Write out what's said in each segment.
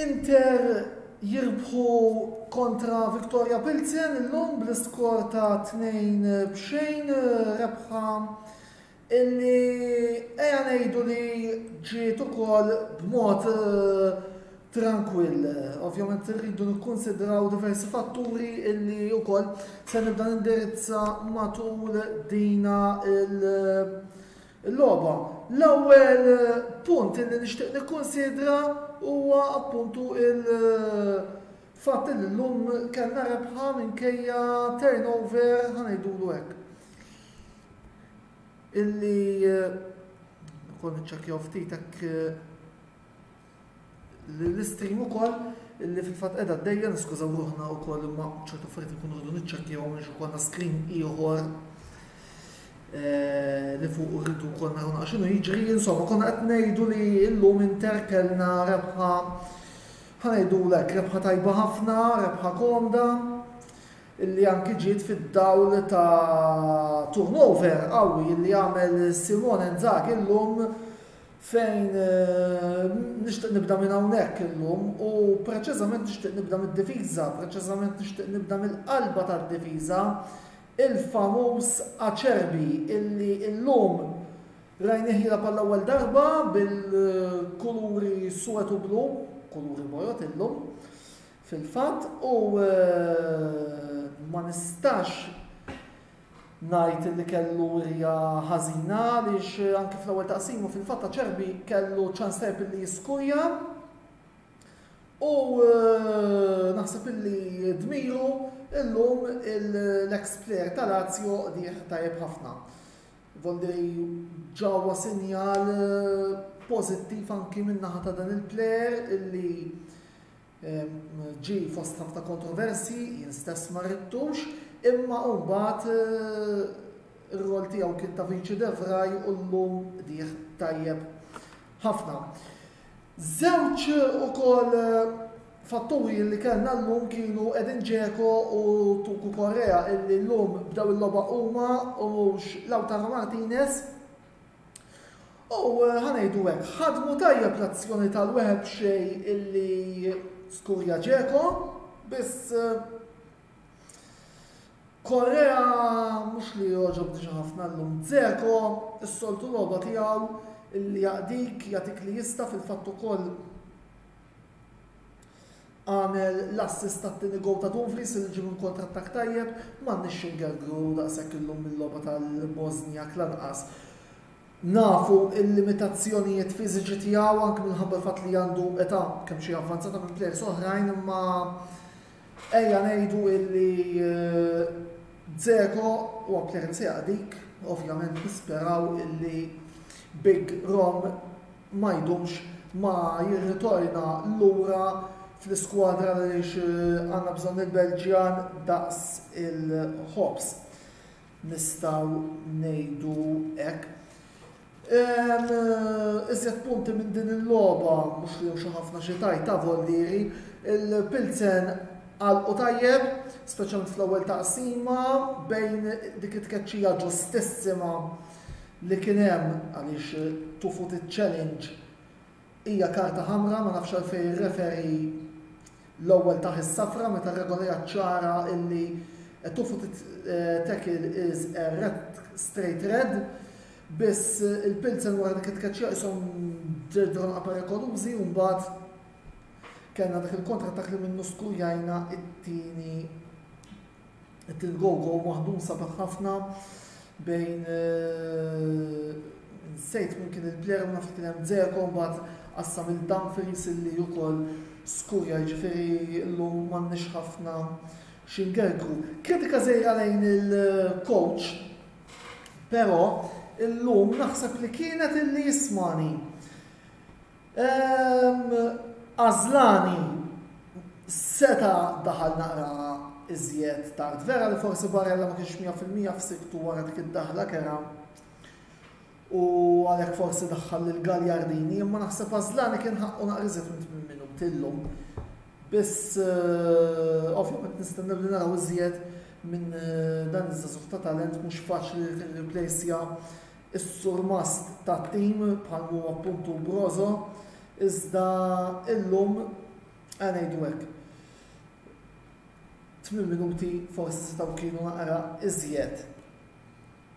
Inter jirbħu kontra Victoria Pilsen illum bl-iskor ta' 2-0 rebħa illi eja ngħidu li ġiet ukoll b'mod eh, trankwill. Ovvjament irridu nikkonsidraw diversi fatturi illi wkoll se nibda nindirizza matul dina il- il-logħba. L-ewwel punt illi nixtieq nikkonsidra huwa appuntu il-fatt li llum kellna rebħa minkejja turnover ħa ngħidulu hekk. Illi ukoll niċċekkjaw ftit hekk l-istream ukoll illi fil-fatt qiegħda għaddejja niskużaw ruħna wkoll imma ċertu affarijiet nkunu rridu niċċekkjaw għaliex ikollna screen ieħor eh, li fuq rridu wkoll naraw naqra x'inhu jiġri. Insomma, konna qed ngħidu li llum Inter kellna rebħa ħa ngħidulek rebħa tajba ħafna, rebħa komda illi anki ġiet fid-dawl ta' turnover qawwi illi għamel Simone Inzaghi llum fejn nixtieq nibda minn hawnhekk illum u preċiżament nixtieq nibda mid-difiża, preċiżament nixtieq nibda mill-qalba tad-difiża, il-famuż Acerbi illi llum rajnih jilgħab għall-ewwel darba bil-kuluri suwed u blu, kuluri bojod illum fil-fatt u ma nistax ngħid li kellu wirja ħażina għaliex anke fl-ewwel taqsima fil-fatt Acerbi kellu ċans tajjeb illi jiskurja u eh, naħseb illi dmiru illum l-ex player ta' Lazio qdih tajjeb ħafna. Voldiri ġewwa sinjal eh, pożittiv anki min-naħa ta' dan il-player illi Ġie fost ħafna kontroversji, jien stess ma ridtux, imma mbagħad ir-rol tiegħu kien ta' viċi De Vrij u llum qdieh tajjeb ħafna. Żewġ ukoll fatturi li kellna llum kienu Edin Dzeko u Tucu Correa illi llum bdew il-logħba huma u mhux Lautaro Martinez. U ħa ngħidu hekk, ħadmu tajjeb l-azzjoni tal-wieħed b'xejn illi skurja Dzeko, biss Correa mhux li jogħġobni xi ħafna llum. Dzeko s-soltu logħba tiegħu illi jaqdik, jagħtik li jista' fil-fatt ukoll għamel l-assist tat-tieni goal ta' Dumfries li ġie minn kontrattakk tajjeb, m'għandniex xi ngergru daqshekk illum mill-logħba tal-Bosniak lanqas. Nafu l-limitazzjonijiet fiżiċi tiegħu anke minħabba l-fatt li għandu età kemm xi avvanzata minn plejers oħrajn imma ejja ngħidu illi eh, Dzeko huwa plejer li se jaqdik, ovvjament nisperaw illi Big Rom ma jdumx ma jirritorna lura fl-iskwadra għaliex eh, għandna bżonn il-Belġjan daqs il-ħobż. Nistgħu ngħidu hekk. Eh, iżjed punti minn din il-logħba, mhux li xi ħafna xi tajt ta' Voldieri, il-Pilsen għalqu tajjeb, speċjalment fl-ewwel taqsima bejn dik it-tkeċċija ġustissima li kien hemm għaliex two-footed challenge hija karta ħamra, ma nafx għalfejn ir-referee l-ewwel tah is-safra meta r-regola hija ċara illi a two-footed eh, tackle is a red straight red. Biss eh, il-Pilsen wara dik it-tkeċċija qishom ġedron perikolużi u mbagħad kellna dak il-kontrattak li minnu skurjajna it-tieni It-go-go maħdum sabiħ ħafna bejn eh, nsejt minn kien il-player ma nafx kien hemm Dzeko mbagħad qassam il Dumfries illi wkoll skurja jiġifieri llum m'għandniex ħafna x'ingergru. Kritika żgħira lejn il-coach, però illum naħseb li kienet illi jismani. Għażlani seta' daħal naqra iżjed tard. Vera li forsi Barella ma kienx 100% f'siktu wara dik id-daħla kera u għalhekk forsi daħħal lil Gagliardini, imma naħseb Għażlani kien ħaqqu naqra iżjed minn 8 minuti llum. Biss eh, ovvjament nistennew li naraw iżjed minn dan iż-żagħżugħ ta' talent mhux faċli li tirriplejsja s-surmast tat-tim bħal mhu appuntu Brozo, iżda illum ejja ngħidu hekk. 8 minuti forsi setgħu kienu naqra iżjed.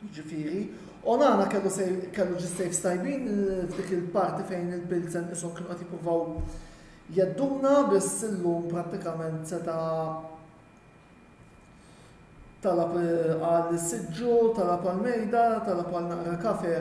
Jiġifieri, Onana kellu kellu ġi saves tajbin f'dik il-parti fejn il-Pilsen ishom kienu qed jippruvaw jedduna biss illum prattikament seta' talab għal siġġu, talab għal mejda, talab għal naqra kafe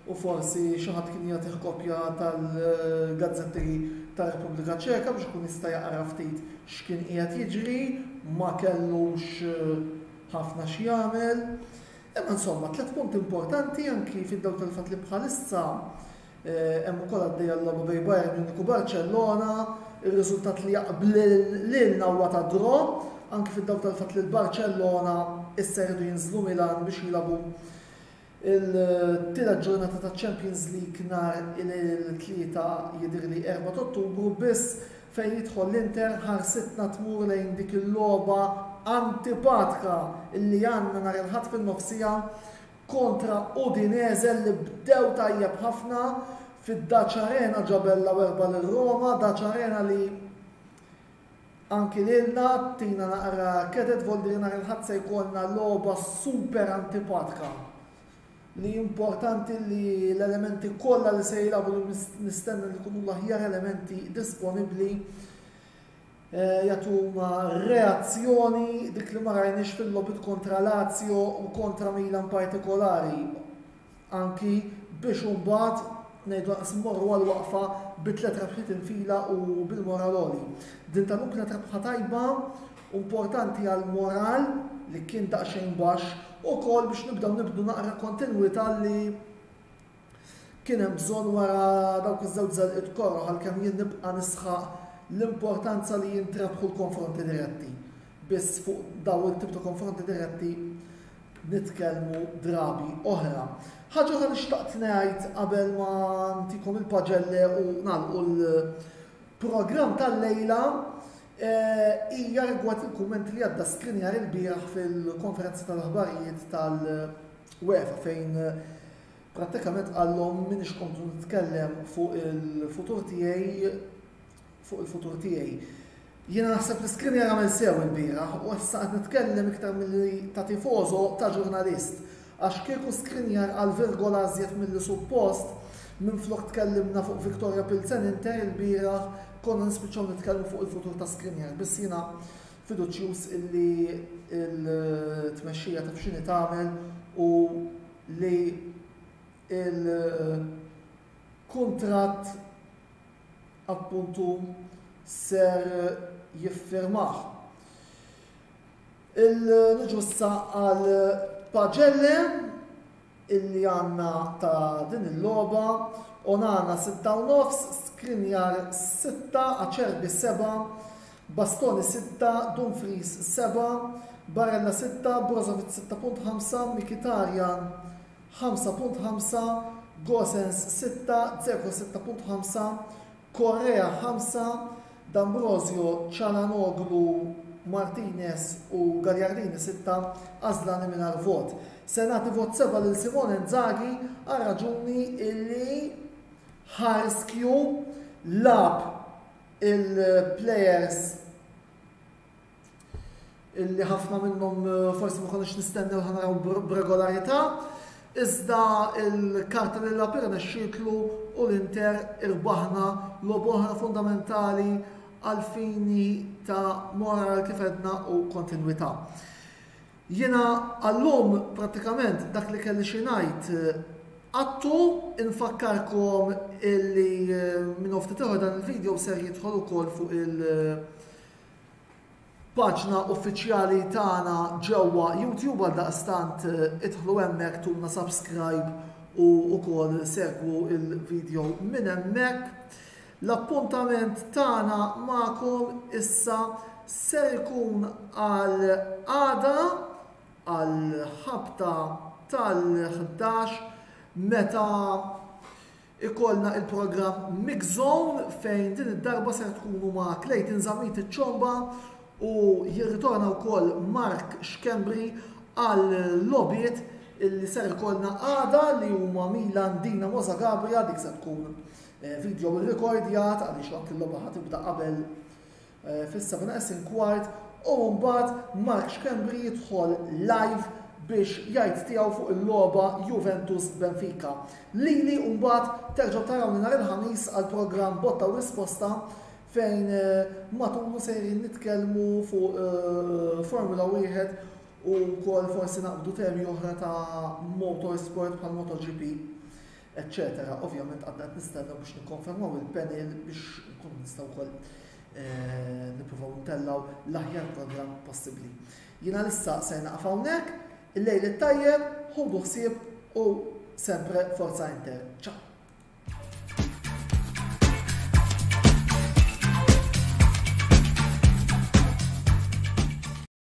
u forsi xi ħadd kien jagħtih kopja tal-gazzetti tar-Repubblika Ċeka biex ikun jista' jaqra ftit x'kien qiegħed jiġri, ma kellux ħafna x'jagħmel. Imma insomma, tlett punti importanti anki fid-dawl tal-fatt li bħalissa hemm ukoll għaddejja l-logħba bejn Bayern Munich u Barcellona, ir-riżultat li jaqblilna huwa ta' draw, anki fid-dawl tal-fatt li l-Barcellona issa jridu jinżlu Milan biex jilagħbu Il-tielet ġurnata taċ-Champions League nhar il-Tlieta jidhirli 4 t'Ottubru biss fejn jidħol l-Inter ħarsitna tmur lejn dik il-logħba antipatka li għandna nhar il-Ħadd fin-nofsiegħa kontra Udinese li bdew tajjeb ħafna fid-Dacia Arena ġabellaw erbgħa lil Roma, Dacia Arena li Anki lilna tina naqra keded voldiri nhar il-Ħadd se jkollna logħba super antipatka li importanti li l-elementi kollha li se jilagħbu li nistenna li jkunu l-aħjar elementi disponibbli eh, jagħtuna reazzjoni dik li ma rajniex fil-logħbiet kontra Lazio u kontra Milan partikolari. Anki biex imbagħad ngħidu lanqas immorru għal waqfa bi tliet rebħiet infila u bil-moral għoli. Din tal-lum kienet rebħa tajba, importanti għall-moral li kien daqsxejn baxx, ukoll biex nibdew nibnu naqra kontinwità li kien hemm bżonn wara dawk iż-żewġ żelqiet koroh għalkemm jien nibqa' nisħaq l-importanza li jintrebħu l-konfronti diretti. Biss fuq dawn it-tip ta' konfronti diretti nitkellmu drabi oħra. Ħaġa oħra li xtaqt ngħid qabel ma ntikom il-paġelle u nagħlqu l-programm tal-lejla eh, hija rigward il-kumment li għadda Skriniar ilbieraħ fil-konferenza tal-aħbarijiet tal-UEFA fejn prattikament qallhom minix komdu nitkellem fuq il-futur tiegħi fuq il-futur tiegħi. Jiena naħseb li Skriniar għamel sew ilbieraħ u issa qed nitkellem iktar milli ta' tifoso ta' ġurnalist. Għax kieku Skriniar qal virgola iżjed milli suppost, minflok tkellimna fuq Viktoria Pilsen Inter ilbieraħ konna nispiċċaw nitkellmu fuq il-futur ta' Skriniar. Biss jiena fiduċjuż illi l-tmexxija taf x'inhi tagħmel u li l-kuntratt appuntu ser jiffirmah. Il-niġu issa għal paġelle illi għanna ta' din il-logħba Onana 6 u nofs, Skriniar 6, Acerbi 7, Bastoni 6, Dumfries 7, Barella 6, Brozovic 6.5, Mkhitaryan 5.5, Gosens 6, Dzeko 6.5, Correa 5, D'Ambrosio, Calhanoglu, Martinez u Gagliardini 6, Asllani mingħajr vot. Se nagħti vot 7 lil Simone Inzaghi għar-raġuni illi ħa riskju lagħab il-plejers illi ħafna minnhom eh, forsi ma konniex nistennew ħanaraw b'regolarità, iżda il-karta li lagħab irnexxietlu u l-Inter irbaħna logħba oħra fundamentali għal fini ta' moral kif edna u kontinwità. Jiena għallum pratikament dak li kelli xi ngħid eh, għattu infakkarkom illi eh, minn ftit dan il-video ser jidħol ukoll fuq il- Paġna uffiċjali tagħna ġewwa YouTube għaldaqstant idħlu hemmhekk tuna subscribe u wkoll segwu il-video minn hemmhekk. L-appuntament tagħna magħkom issa ser ikun għal għada għal ħabta tal-11 meta Ikollna il-programm Mix Zone fejn din id-darba ser tkunu ma' Clayton Zammit iċ-Ċomba U jirritorna wkoll Mark Schembri għal logħbiet illi ser ikollna għada li huma Milan Dinamo Zagabria dik se tkun eh, video rrekordjat għaliex anki l-logħba ħa tibda qabel eh, fis-7 neqsin kwart u mbagħad Mark Schembri jidħol live biex jgħid tiegħu fuq il-logħba Juventus Benfica. Lili mbagħad terġgħu tarawni nhar il-Ħamis għal programm Botta u Risposta fejn matulu sejrin nitkellmu fuq Formula Wieħed u wkoll forsi naqbdu temi oħra ta' motorsport bħal MotoGP, eċċetera. Ovvjament għadna qed nistennew biex nikkonfermaw il-panel biex nkunu nistgħu wkoll eh, nippruvaw ntellgħu l-aħjar programm possibbli. Jiena lissa se naqaf hawnhekk, il-lejl it-tajjeb, ħudu ħsieb u sempre Forza Inter. Ciao!